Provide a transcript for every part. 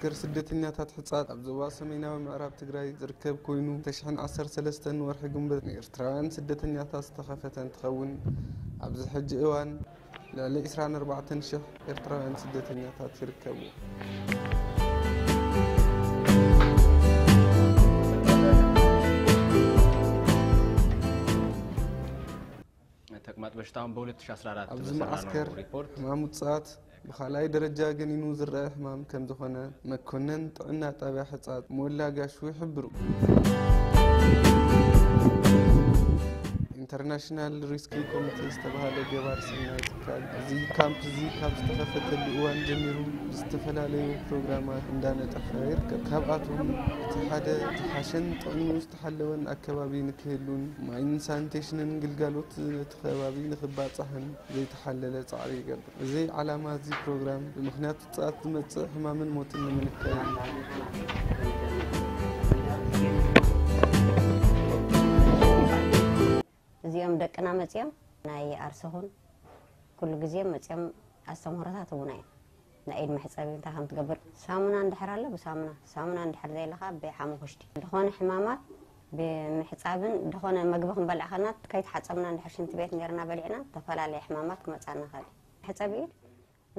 ማእከል ስደተኛታት ሕጻጽ ኣብ ዞባ ሰሜናዊ ምዕራብ ትግራይ ዝርከብ ኮይኑ፣ ክልተ ሽሕን ዓሰርተ ሰለስተን ወርሒ ግንቦት ንኤርትራውያን ስደተኛታት ዝተኸፈተ እንትኸውን፣ ኣብዚ ሕጂ እዋን ልዕሊ ዕስራን ኣርባዕተን ሽሕ ኤርትራውያን ስደተኛታት ይርከቡ። ተቅማጥ በሽታ እውን በ2014 ኣብዚ መዓስከር ሪፖርት ሕማም ውጽኣት ብኻልኣይ ደረጃ ገኒኑ ዝረአ ሕማም ከም ዝኾነ መኮነን ጥዕና ጣብያ ሕጻጽ ሞላ ጋሹ ይሕብሩ። ኢንተርናሽናል ሪስኪ ኮሚቴ ዝተባሃለ ገባር ሰናይ ትካል፣ እዚ ካምፕ እዚ ካብ ዝተኸፈተሉ እዋን ጀሚሩ ዝተፈላለዩ ፕሮግራማት እንዳነጠፈ ይርከብ። ካብኣቶም እቲ ሓደ ዝሓሸን ጥዕንኡ ዝተሓለወን ኣከባቢ ንክህሉን ማይን ሳኒቴሽንን ግልጋሎት ነቲ ከባቢ ንክባጻሕን ዘይተሓለለ ጻዕሪ ይገብር። እዚ ዓላማ እዚ ፕሮግራም ብምኽንያት ውጽኣት ዝመጽእ ሕማምን ሞትን ንምንካይ እዩ። እዚኦም ደቅና መጺኦም ናይ ኣርሰኹን ኩሉ ግዜ መጺኦም ኣስተምህሮታት ህቡና እዮም። ናይ ኢድ መሕጸቢ እንታይ ከም ትገብር ሳሙና እንድሕር ኣሎ ብሳሙና፣ ሳሙና እንድሕር ዘይለኻ ብሓሙኽሽቲ ዝኾነ ሕማማት ብምሕጻብን ዝኾነ መግቢ ክንበልዕ ከለና ከይተሓጸብና እንድሕር ሽንቲ ቤት ኔርና በሊዕና ዝተፈላለየ ሕማማት ክመጻና ይኽእል እዩ። መሕጸቢ ኢድ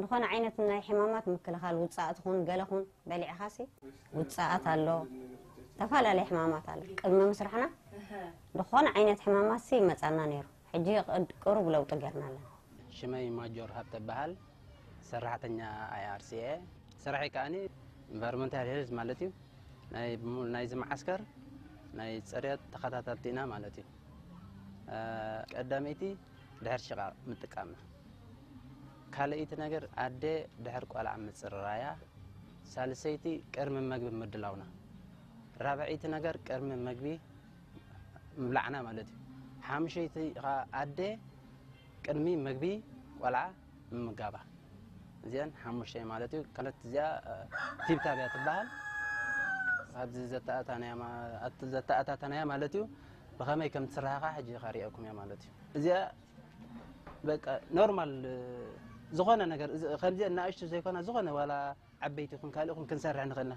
ዝኾነ ዓይነት ናይ ሕማማት ምክልኻል ውጻእ ትኹን ገለ ኹን በሊዕኻሲ ውጻኣት ኣሎ፣ ዝተፈላለየ ሕማማት ኣሎ። ቅድሚ ምስራሕና ዝኾነ ዓይነት ሕማማትሲ ይመጻና ነይሩ። ሕጂ ቅድ- ቅሩብ ለውጢ ጌርና ኣለና። ሽመይ ማጆር ሃብተ በሃል ሰራሕተኛ ኣይኣርሲ እየ። ስራሐይ ከኣኒ ኢንቫይሮንመንታል ሄልዝ ማለት እዩ። ናይ ብሙ- ናይዚ መዓስከር ናይ ፅሬት ተኸታተልቲ ኢና ማለት እዩ። ቀዳመይቲ ድሕር ሽቓቕ ምጥቃምና። ካልኣይቲ ነገር ኣደ ድሕር ቆልዓ ምፅርራያ። ሳልሰይቲ ቅድሚ መግቢ ምድላውና። ራብዐይቲ ነገር ቅድሚ መግቢ ምብላዕና ማለት እዩ። ሓሙሸይቲ ከዓ ኣደ ቅድሚ መግቢ ቆልዓ ምምጋባ። እዚአን ሓሙሽተ ማለት እዩ። ካልኦት እዚኣ ቲብታብ እያ ትበሃል። ኣብዚ ዘተኣታናያ ማ- ኣት- ዘተኣታተናያ ማለት እዩ። ብኸመይ ከም ትስራሃኻ ሕጂ ከርእየኩም እያ ማለት እዩ። እዚኣ በቃ ኖርማል ዝኾነ ነገር እዚ- ከምዚአን ንኣሽቱ ዘይኮና ዝኾነ ዋላ ዓበይቲ ይኹን ካልእ ይኹን ክንሰርሕ ንኽእልና።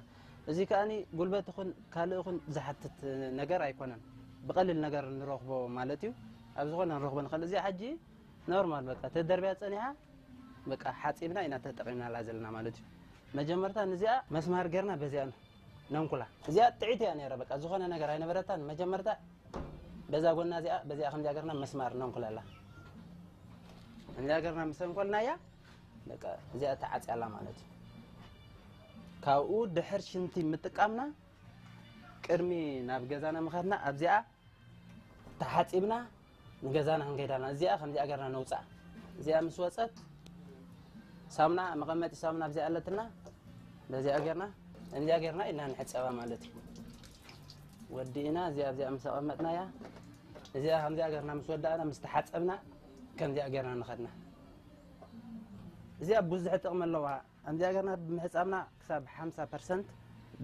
እዚ ከኣኒ ጉልበት ይኹን ካልእ ይኹን ዝሓትት ነገር ኣይኮነን። ብቐሊል ነገር ንረኽቦ ማለት እዩ። ኣብ ዝኾነ ንረኽቦ ንኽእል። እዚኣ ሕጂ ኖርማል በቃ ተደርብያ ጸኒሓ በቃ ሓጺብና ኢና ተጠቒምናላ ዘለና ማለት እዩ። መጀመርታ ንዚኣ መስማር ጌርና በዚኣ ነንኩላ። እዚኣ ጥዒት እያ ነይራ በቃ ዝኾነ ነገር ኣይነበረታን። መጀመርታ በዛ ጎና እዚኣ በዚኣ ከምዚኣ ጌርና መስማር ነንኩላላ። ከምዚኣ ጌርና ምስ ኣንኮልናያ በቃ እዚኣ ተዓጽያላ ማለት እዩ። ካብኡ ድሕር ሽንቲ ምጥቃምና ቅድሚ ናብ ገዛና ምኻድና ኣብዚኣ ተሓጺብና ንገዛና ክንከይድ ኣለና። እዚኣ ከምዚኣ ጌርና ነውፅኣ። እዚኣ ምስ ወፀት ሳሙና መቐመጢ ሳሙና ኣብዚኣ ኣለትና። በዚኣ ጌርና ከምዚኣ ጌርና ኢልና ንሕፀባ ማለት እዩ። ወዲእና እዚኣ ኣብዚኣ ምስ ኣቐመጥናያ እዚኣ ከምዚኣ ጌርና ምስ ወዳእና ምስ ተሓፀብና ከምዚኣ ጌርና ንኸድና። እዚኣ ብዙሕ ጥቕሚ ኣለዋ። ከምዚኣ ጌርና ብምሕፃብና ክሳብ ሓምሳ ፐርሰንት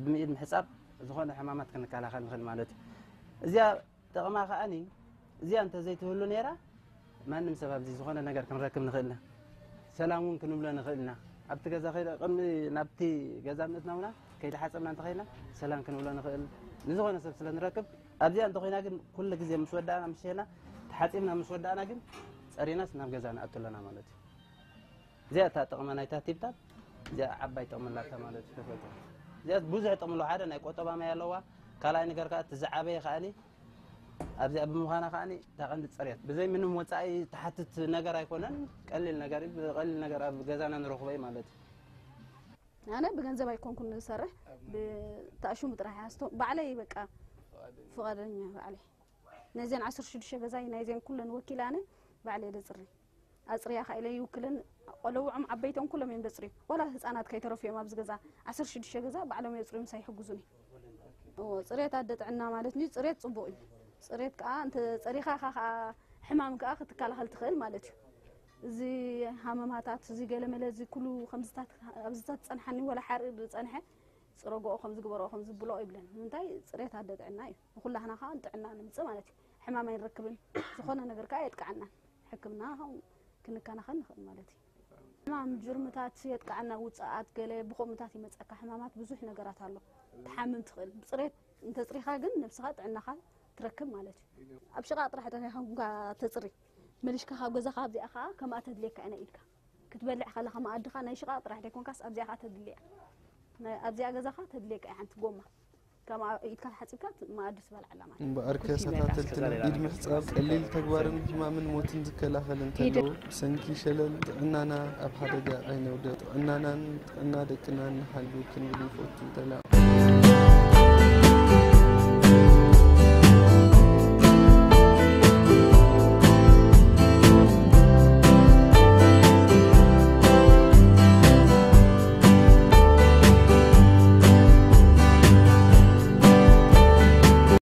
ብምኢድ ምሕፃብ ዝኾነ ሕማማት ክንከላኸል ንኽእል ማለት እዩ። እዚኣ ጥቕማ ከኣኒ እዚኣ እንተዘይትህሉ ነይራ ማንም ሰብ ኣብዚ ዝኾነ ነገር ክንረክብ ንኽእልና ሰላም እውን ክንብሎ ንኽእልና ኣብቲ ገዛ ከይደ ቅድሚ ናብቲ ገዛ ምእትና ውና ከይተሓፀብና እንተኸይና ሰላም ክንብሎ ንኽእል ንዝኾነ ሰብ ስለ ንረክብ ኣብዚኣ እንተኾይና ግን ኩሉ ግዜ ምስ ወዳእና ምስ ሸና ተሓፂብና ምስ ወዳእና ግን ፀሪናስ ናብ ገዛ ንኣቱ ኣለና ማለት እዩ። እዚኣ እታ ጥቕሚ ናይታ ቲብታብ እዚኣ ዓባይ ጥቕሚ ኣላታ ማለት እዩ። ተፈጥሮ እዚኣ ብዙሕ ጥቕሚ ኣለዋ። ሓደ ናይ ቆጠባ ማይ ኣለዋ። ካልኣይ ነገር ከዓ እቲ ዝዓበየ ከኣኒ ኣብዚኣ ብምዃና ከኣኒ እታ ቀንዲ ፅሬት ብዘይ ምንም ወፃኢ ትሓትት ነገር ኣይኮነን። ቀሊል ነገር እዩ። ብቐሊል ነገር ኣብ ገዛና ንረኽቦ እዩ ማለት እዩ። ኣነ ብገንዘብ ኣይኮንኩን ዝሰርሕ ብታእሽሙ ጥራሕ ያስቶ ባዕለይ በቃ ፍቓደኛ ባዕለይ ነዚን ዓሰርተ ሽዱሽተ ገዛይ ናይዚን ኩለን ወኪል ኣነ ባዕለይ ደፅሪ ኣፅርያ ከ ኢለ ይውክልን ቆለውዖም ዓበይቶም ኩሎም እዮም ደፅርዩ ዋላ ህፃናት ከይተረፉ እዮም ኣብዚ ገዛ ዓሰርተ ሽዱሽተ ገዛ ባዕሎም የፅርዩ ምሳይ ይሕግዙኒ እዎ ፅሬት ኣደ ጥዕና ማለት እዩ ፅሬት ፅቡቕ እዩ ፅሬት ከዓ እንተ ፀሪኻ ኢኻ ከዓ ሕማም ከዓ ክትከላኸል ትኽእል ማለት እዩ እዚ ሃመማታት እዚ ገለመለ እዚ ኩሉ ከምዝታት ኣብዝታት ዝፀንሓኒ ወላ ሓርኢ ዝፀንሐ ፅረጎኦ ከም ዝግበሮ ከም ዝብሎ ይብለን ንምንታይ ፅሬት ኣደ ጥዕና እዩ ንኩላህና ከዓ ጥዕና ንምፅእ ማለት እዩ ሕማም ኣይንረክብን ዝኾነ ነገር ከዓ የጥቅዓናን ሕክምና ክንከናኸን ንኽእል ማለት እዩ ሕማም ጅርምታት የጥቃዕና፣ ውፅኣት ገለ ብኸምኡታት ይመፀካ ሕማማት ብዙሕ ነገራት ኣሎ። ትሓምም ትኽእል ብፅሬት እንተፅሪኻ ግን ነብስኻ ጥዕናኻ ትረክብ ማለት እዩ። ኣብ ሽቓቕ ጥራሕ ጥሪኻ ተፅሪ፣ መሊሽካ ካብ ገዛኻ ኣብዚኣ ከዓ ከምኣ ተድልየካ ኢና ኢድካ ክትበልዕ ከለኻ መኣድኻ ናይ ሽቓቕ ጥራሕ ደይኮንካስ ኣብዚኣ ከዓ ተድልያ ኣብዚኣ ገዛኻ ተድልየካ ሓንቲ ጎማ ከም ኢድካ ተሓፂብካ መኣዲ ትበልዓላ ማለት። እምበኣር ከሳታተልትና ኢድ ምሕፃብ ቀሊል ተግባርን ሕማምን ሞትን ዝከላኸል እንተሎ፣ ብሰንኪ ሸለል ጥዕናና ኣብ ሓደጋ ኣይነውድቕ። ጥዕናናን ጥዕና ደቅናን ንሓሉ ክንብል ይፈቱ። ሰላም።